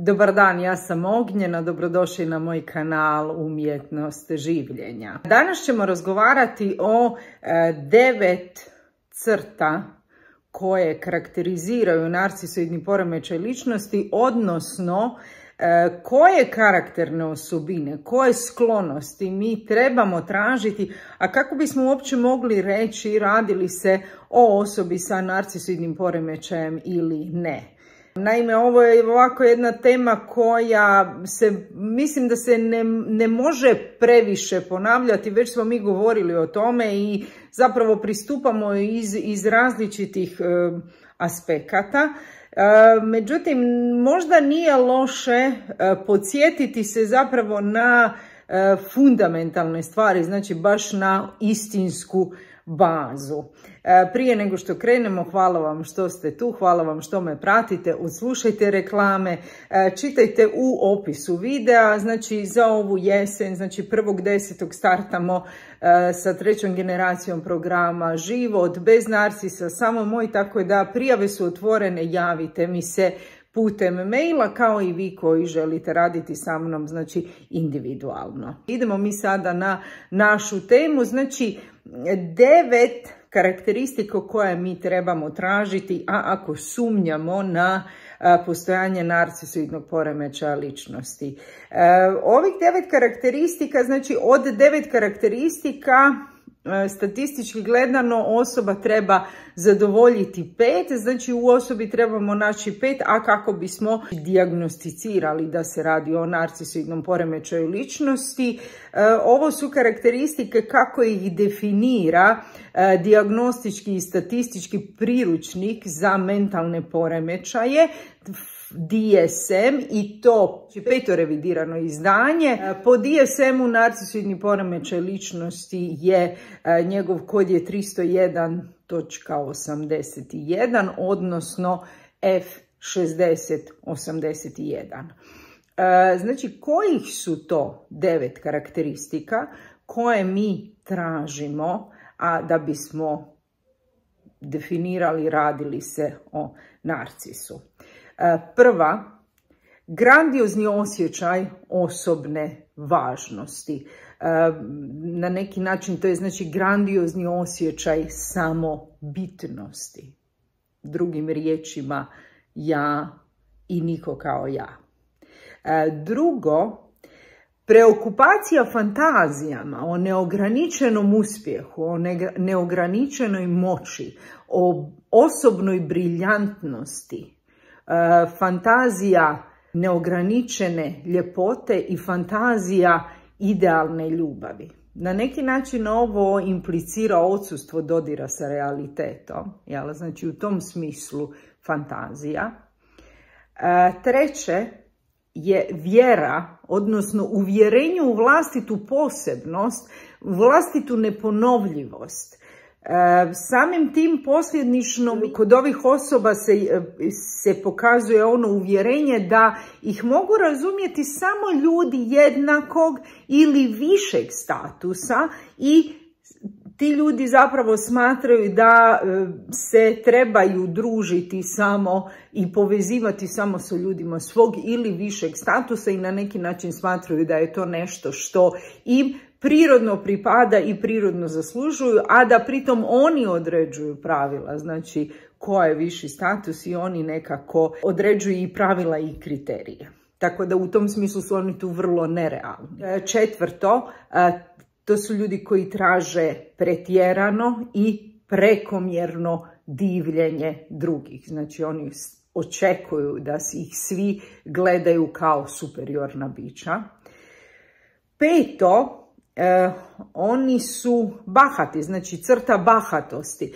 Dobar dan, ja sam Ognjena, dobrodošli na moj kanal Umjetnost življenja. Danas ćemo razgovarati o 9 crta koje karakteriziraju narcisoidni poremećaj ličnosti, odnosno koje karakterne osobine, koje sklonosti mi trebamo tražiti, a kako bismo uopće mogli reći radi li se o osobi sa narcisoidnim poremećajem ili ne. Naime, ovo je ovako jedna tema koja mislim da se ne može previše ponavljati, već smo mi govorili o tome i zapravo pristupamo iz različitih aspekata. Međutim, možda nije loše podsjetiti se zapravo na fundamentalne stvari, znači baš na istinsku bazu. Prije nego što krenemo, hvala vam što ste tu, hvala vam što me pratite, odslušajte reklame, čitajte u opisu videa, znači za ovu jesen, znači 1.10. startamo sa 3. generacijom programa Život bez narcisa, samo moj, tako da prijave su otvorene, javite mi se putem maila, kao i vi koji želite raditi sa mnom, znači individualno. Idemo mi sada na našu temu, znači 9 karakteristika koje mi trebamo tražiti, a ako sumnjamo na postojanje narcisoidnog poremećaja ličnosti. Ovih 9 karakteristika, znači od 9 karakteristika, statistički gledano osoba treba zadovoljiti 5, znači u osobi trebamo naći 5, a kako bismo dijagnosticirali da se radi o narcisoidnom poremećaju ličnosti. Ovo su karakteristike kako ih definira dijagnostički i statistički priručnik za mentalne poremećaje, DSM, i to 5. revidirano izdanje. Po DSM-u narcisoidni poremećaj ličnosti je, njegov kod je 301.81, odnosno F6081. Znači, kojih su to 9 karakteristika koje mi tražimo, a da bismo definirali radili se o narcisu? Prva, grandiozni osjećaj osobne važnosti. Na neki način to je znači grandiozni osjećaj samobitnosti. Drugim riječima, ja i niko kao ja. Drugo, preokupacija fantazijama o neograničenom uspjehu, o neograničenoj moći, o osobnoj briljantnosti, fantazija neograničene ljepote i fantazija idealne ljubavi. Na neki način ovo implicira odsustvo dodira sa realitetom, jel? Znači u tom smislu fantazija. Treće je vjera, odnosno uvjerenje u vlastitu posebnost, vlastitu neponovljivost. Samim tim posljednično kod ovih osoba se pokazuje ono uvjerenje da ih mogu razumjeti samo ljudi jednakog ili višeg statusa i ti ljudi zapravo smatraju da se trebaju družiti samo i povezivati samo sa ljudima svog ili višeg statusa i na neki način smatraju da je to nešto što im prirodno pripada i prirodno zaslužuju, a da pritom oni određuju pravila, znači ko je viši status i oni nekako određuju i pravila i kriterije. Tako da u tom smislu su oni tu vrlo nerealni. Četvrto, to su ljudi koji traže pretjerano i prekomjerno divljenje drugih. Znači oni očekuju da ih svi gledaju kao superiorna bića. Peto, oni su bahati, znači crta bahatosti.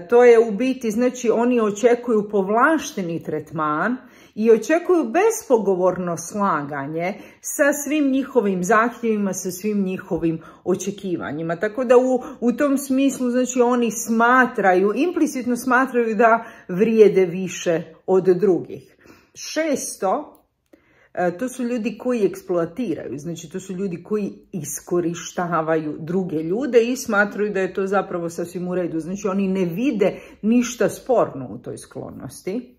To je u biti, znači oni očekuju povlašteni tretman i očekuju bespogovorno slaganje sa svim njihovim zahtjevima, sa svim njihovim očekivanjima. Tako da u tom smislu, znači oni smatraju, implicitno smatraju da vrijede više od drugih. Šesto, to su ljudi koji eksploatiraju, znači to su ljudi koji iskorištavaju druge ljude i smatraju da je to zapravo sasvim u redu. Znači oni ne vide ništa sporno u toj sklonosti.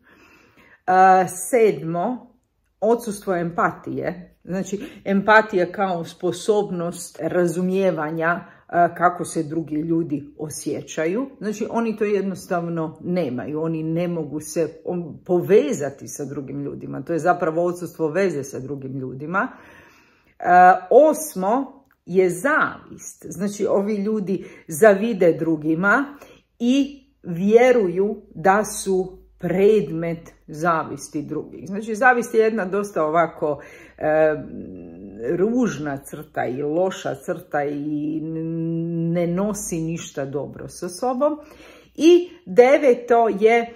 Sedmo, odsustvo empatije. Znači, empatija kao sposobnost razumijevanja kako se drugi ljudi osjećaju. Znači, oni to jednostavno nemaju. Oni ne mogu se povezati sa drugim ljudima. To je zapravo odsustvo veze sa drugim ljudima. 8. je zavist. Znači, ovi ljudi zavide drugima i vjeruju da su predmet zavisti drugih. Znači, zavist je jedna dosta ovako ružna crta i loša crta i ne nosi ništa dobro sa sobom. I 9. je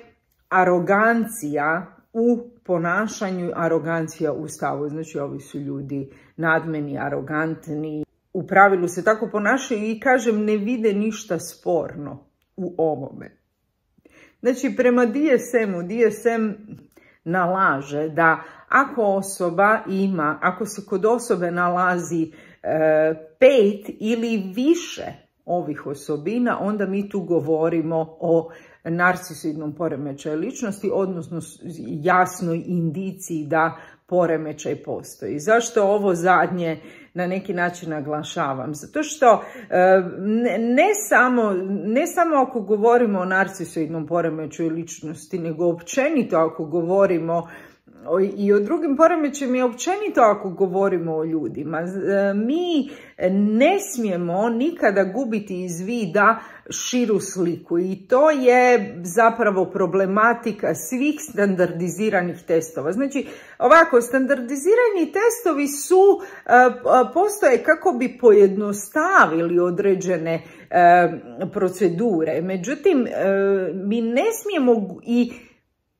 arogancija u ponašanju, arogancija u stavu. Znači, ovi su ljudi nadmeni, arogantni. U pravilu se tako ponašaju i, kažem, ne vide ništa sporno u ovome. Znači, prema DSM nalaže da ako se kod osobe nalazi 5 ili više ovih osobina, onda mi tu govorimo o narcisoidnom poremećaju ličnosti, odnosno jasnoj indiciji da poremećaj postoji. Zašto ovo zadnje na neki način naglašavam? Zato što ne samo ako govorimo o narcisoidnom poremećaju ličnosti, nego općenito ako govorimo i o drugim poremećajima i općenito ako govorimo o ljudima. Mi ne smijemo nikada gubiti iz vida širu sliku i to je zapravo problematika svih standardiziranih testova. Znači, ovako, standardizirani testovi postoje kako bi pojednostavili određene procedure. Međutim, mi ne smijemo i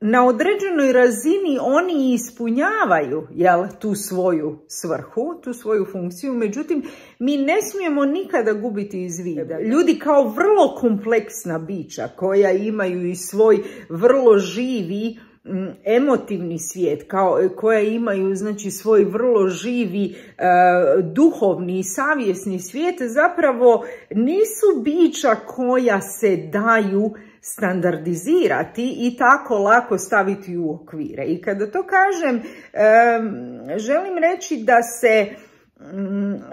na određenoj razini oni ispunjavaju tu svoju svrhu, tu svoju funkciju, međutim mi ne smijemo nikada gubiti iz vida. Ljudi kao vrlo kompleksna bića koja imaju i svoj vrlo živi emotivni svijet, koja imaju, znači, svoj vrlo živi duhovni i savjesni svijet, zapravo nisu bića koja se daju standardizirati i tako lako staviti u okvire. I kada to kažem, želim reći da se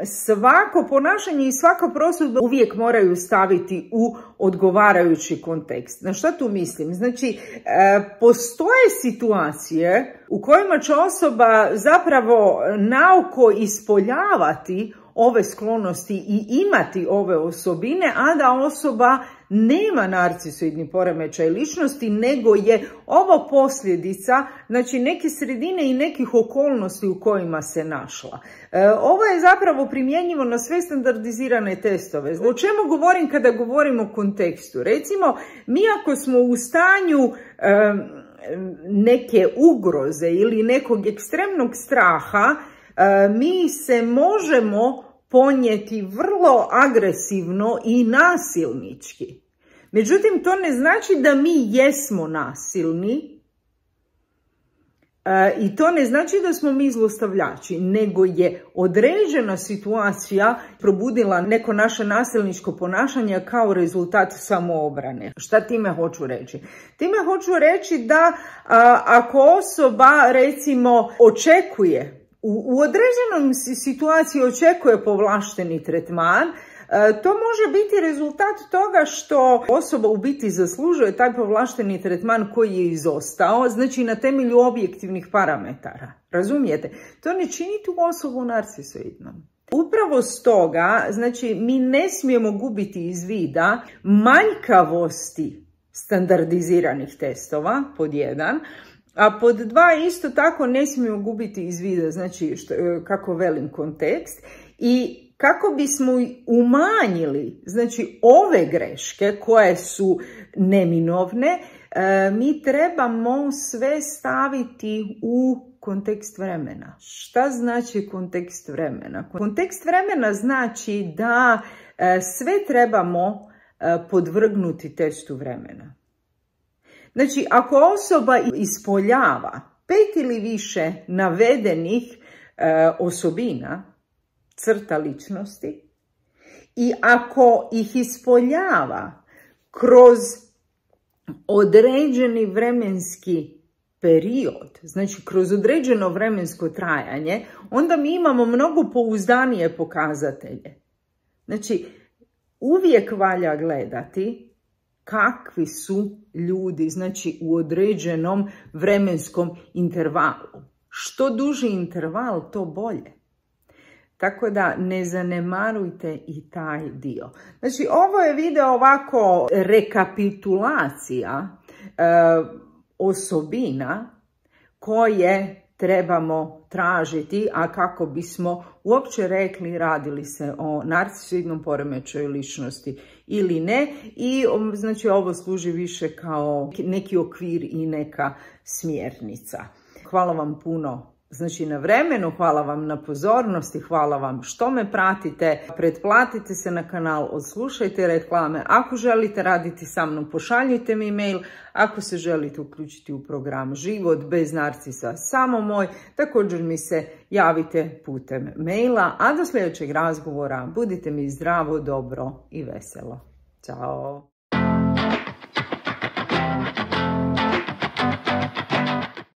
svako ponašanje i svaka prosudba uvijek moraju staviti u odgovarajući kontekst. Na što tu mislim? Znači, postoje situacije u kojima će osoba zapravo naoko ispoljavati ove sklonosti i imati ove osobine, a da osoba nema narcisoidni poremećaj ličnosti, nego je ovo posljedica, znači, neke sredine i nekih okolnosti u kojima se našla. Ovo je zapravo primjenjivo na sve standardizirane testove. O čemu govorim kada govorim o kontekstu? Recimo, mi ako smo u stanju neke ugroze ili nekog ekstremnog straha, mi se možemo ponijeti vrlo agresivno i nasilnički. Međutim, to ne znači da mi jesmo nasilni i to ne znači da smo mi zlostavljači, nego je određena situacija probudila neko naše nasilničko ponašanje kao rezultat samoobrane. Šta time hoću reći? Time hoću reći da ako osoba, recimo, očekuje, u određenom situaciji očekuje povlašteni tretman, to može biti rezultat toga što osoba u biti zaslužuje taj povlašteni tretman koji je izostao, znači na temelju objektivnih parametara. Razumijete? To ne čini tu osobu narcisoidnom. Upravo stoga, znači, mi ne smijemo gubiti iz vida manjkavosti standardiziranih testova, pod 1, a pod 2 isto tako ne smijemo gubiti iz vida, znači, kako velim, kontekst, i kako bismo umanjili, znači, ove greške koje su neminovne, mi trebamo sve staviti u kontekst vremena. Šta znači kontekst vremena? Kontekst vremena znači da sve trebamo podvrgnuti testu vremena. Znači, ako osoba ispoljava 5 ili više navedenih osobina, crta ličnosti, i ako ih ispoljava kroz određeni vremenski period, znači kroz određeno vremensko trajanje, onda mi imamo mnogo pouzdanije pokazatelje. Znači, uvijek valja gledati kakvi su ljudi, znači u određenom vremenskom intervalu. Što duži interval, to bolje. Tako da ne zanemarujte i taj dio. Znači, ovo je video ovako rekapitulacija osobina koje trebamo tražiti, a kako bismo uopće rekli radili se o narcisoidnom poremećaju ličnosti ili ne. I znači ovo služi više kao neki okvir i neka smjernica. Hvala vam puno znači na vremenu, hvala vam na pozornosti, hvala vam što me pratite, pretplatite se na kanal, odslušajte reklame, ako želite raditi sa mnom pošaljite mi e-mail, ako se želite uključiti u program Život bez narcisa samo moj, također mi se javite putem maila, a do sljedećeg razgovora budite mi zdravo, dobro i veselo. Ćao!